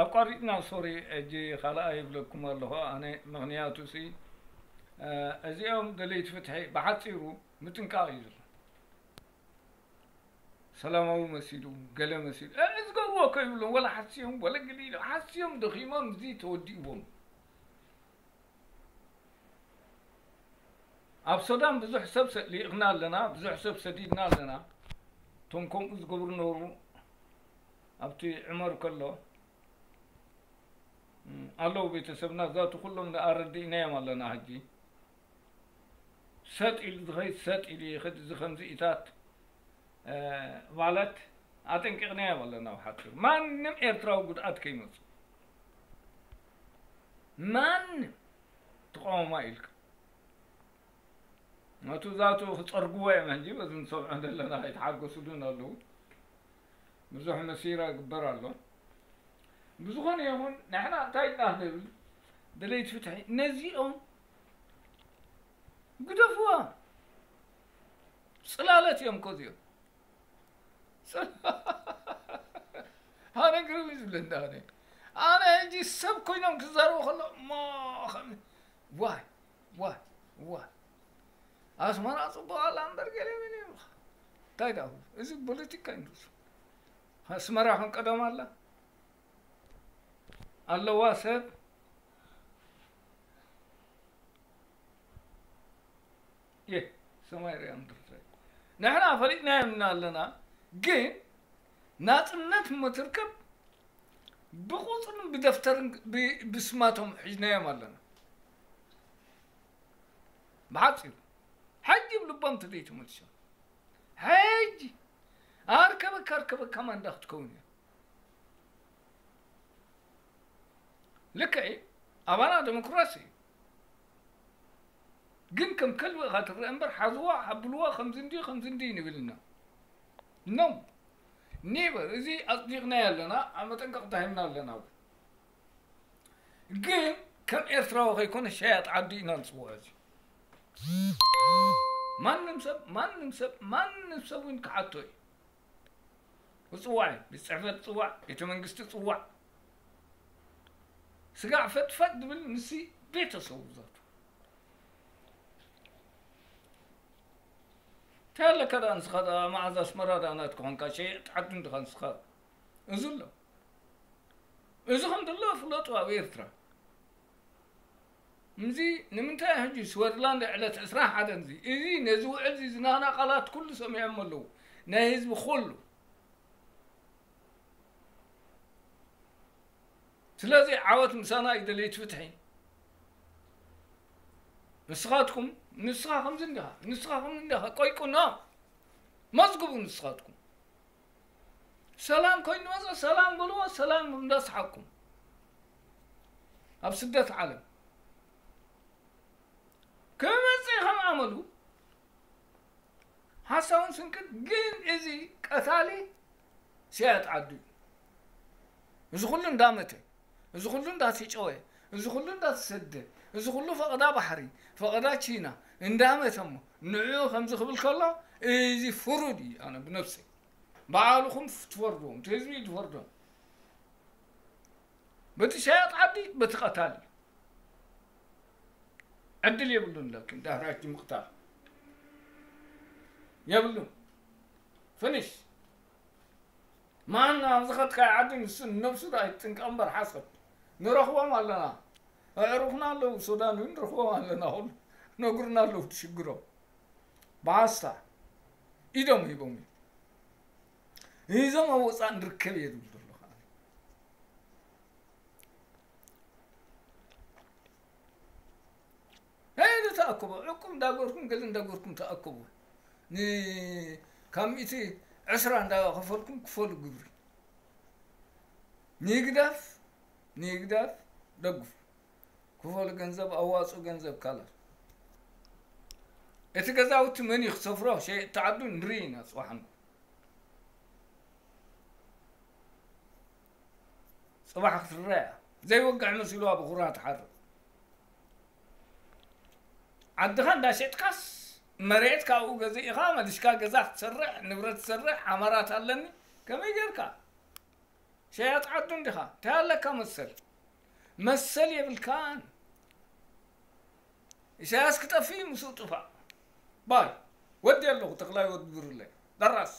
ኣቋሪጥና ሶሪ። እጂ ካልኣ ይብለኩም ኣለኹ ኣነ። ምኽንያቱ ሲ እዚኦም ደለይቲ ፍትሒ ብሓፂሩ ምጥንቃቕ እዩ ዘሎ። ሰላማዊ መሲሉ ገለ መሲሉ እዚ ገብርዎ እኮ ይብሎም። ወላ ሓስዮም ወላ ግሊ ኢሎም ሓስዮም ደኺሞም እዚ ተወዲእዎም። ኣብ ሱዳን ብዙሕ ሰብ ሰ- ልኢኽና ኣለና፣ ብዙሕ ሰብ ሰዲድና ኣለና። እቶም ከምኡ ዝገብሩ ነበሩ። ኣብቲ ዕመር ከሎ እም፣ ኣለዉ ቤተሰብና ዛቱ ኩሎም ኣረዲእናዮም ኣለና። ሕጂ ሰጥ ኢሉ ዝኸይድ ሰጥ ኢሉ ይኸድ። እዚ ከምዚ ኢታት ማለት ኣጠንቂቕናዮም ኣለና። ብሓፂሩ ማንም ኤርትራዊ ጉድኣት ከይመፁ ማንም ተቃወማ ኢልካ ነቱ ዛቱ ክፀርግዎ እዮም። ሕጂ በዚ ንሰምዖ ዘለና ኣይተሓገሱሉን ኣለዉ። ብዙሕ መሲራ ይግበር ኣሎ። ብዝኾነ ይኹን ንሕና እንታይ ኢና ንብል ደለይቲ ፍትሒ ነዚኦም ግደፍዋ። ፅላለት እዮም እኮ እዚኦም። ኣነ ግርም እዩ ዝብለኒ ኣነ ኣነ ሕጂ ሰብ ኮይኖም ክዛረቡ ከሎ እሞ ከም ዋይ ዋይ ዋይ ኣስመራ ፅቡቅ ኣላ እምበር ገለ ምን ይብልካ እንታይ ዳ እዚ ፖለቲካ ይንሱ ኣስመራ ከም ቀደም ኣላ ኣለዋ ሰብ የ ሰማይ ሪያ ምድርትራይ ንሕና ፈሊጥናዮም ኢና ኣለና ግን ናፅነት እሞ ትርከብ ብቁፅርን ብደፍተርን ብስማቶም ሒዝናዮም ኣለና ብሓፂሩ ሕጂ ብልቦም ተዘይተመልሶም ሕጂ ኣርከበካ ኣርከበካ ማንዳ ክትከውን እያ ልክዕ ኣባና ዲሞክራሲ እዩ ግን ከም ከልቢ ኢኻ ትረአ እምበር ሓዝዋ ሓብልዋ ከምዚ እንዲ ከምዚ እንዲ ንብል ኢና ኖ ኔቨር እዚ ኣፅዲቕናዮ ኣለና ኣብ መጠንቀቕታ ሂብና ኣለና እውን ግን ከም ኤርትራዊ ከይኮነ ሸያጥ ዓዲ ኢና ንፅውዖ እዚ ማንም ሰብ ማንም ሰብ ማንም ሰብ እውን ክሓቶ እዩ ክፅዋዕ እዩ ቤት ፅሕፈት ፅዋዕ ቤተ መንግስቲ ፅዋዕ ስጋዕ ፈጥፈጥ ዝብል ንሲ ቤተሰቡ ዛቱ እንታይ ኣለካ ደኣ ንስኻ ደኣ መዓዝ ኣስመራ ደኣ ናትካ ኾንካ ሸየጥ ዓዱ እንድኻ ንስኻ እዚ ኣሎ እዚ ከም ዘሎ ፍለጡ ኣብ ኤርትራ እዚ ንምንታይ ሕጂ ስወርላንድ ዕለት ዕስራን ሓደን እዚ እዚ ነዚ ውዕል እዚ ዝናና ቃላት ኩሉ ሰሚዖም ኣለዉ ናይ ህዝቢ ኩሉ ስለዚ ዓወት ምሳና እዩ ደለይቲ ፍትሒ ንስኻትኩም ንስኻ ከምዚ እንዲኻ ንስኻ ከምዚ እንዲኻ ቆይቁና መዝግቡ ንስኻትኩም ሰላም ኮይኑ መፀ ሰላም በልዎ ሰላም እንዳስሓቅኩም ኣብ ስደት ዓለም ክመፅእ ከም ኣመሉ ሓሳውን ስንቅን ግን እዚ ቀታሊ ሲያት ዓዱ እዩ እዚ ኩሉ እንዳመተ እዚ ኩሉ እንዳተጨወ እዚ ኩሉ እንዳተሰደ እዚ ኩሉ ፈቐዳ ባሕሪ ፈቐዳ ቺና እንዳመተ እሞ ንዕኡ ከምዚ ክብል ከሎ እዚ ፍሩድ እዩ ኣነ ብነብሰይ ባዕልኹም ትፈርድዎም እቲ ህዝቢ እዩ ዝፈርዶም በቲ ሸያጥ ዓዲ በቲ ቀታሊ ዕድል የብሉን ለኪን ዳህራጅ ምቕታል የብሉን ፍንሽ ማን ኣብ ዝኸድካዮ ዓዲ ንሱ ንነብሱ ዶ ኣይትጥንቀቕ እምበር ሓሰብ ንረኽቦም ኣለና ኣዕሩኽና ኣለዉ ሱዳን እውን ንረኽቦም ኣለና ኩሉ ነግሩና ኣለዉ ትሽግሮም ብሓስታ ኢዶም ሂቦም እዩ ሂዞም ኣብ ወፃእ ንርከብ እየ ዝብል ዘለኹ ሄዱ ተኣከቡ ዕቁብ እንዳገርኩም ገለ እንዳገርኩም ተኣከቡ ካብ ሚእቲ ዕስራ እንዳኸፈልኩም ክፈሉ ግብሪ ንግዳፍ ንግዳፍ ደግፉ ክፈሉ ገንዘብ ኣዋፁ ገንዘብ ካላት እቲ ገዛውቲ መን እዩ ክሰፍሮ ሸየጥቲ ዓዱ ንርኢ ኢና ፅባሕ ንግሆ ፅባሕ ክትረአ እያ ዘይወግዕ መሲልዋ ብኹራ ትሓርቕ ዓድኻ እንዳሸጥካስ መሬት ካብኡ ገዚእኻ መሊስካ ገዛ ክትሰርሕ ንብረት ትሰርሕ ዓማራት ኣለኒ ከመይ ጌርካ ሸያጥ ዓዱ እንዲኻ፣ እንታይ ኣለካ መሰል? መሰል የብልካን። ኢሳያስ ክጠፍእ ምስኡ ጥፋእ። ባይ፣ ወዲ ኣለኹ፣ ተኽላይ ወዲ ብሩለይ። ደራስ።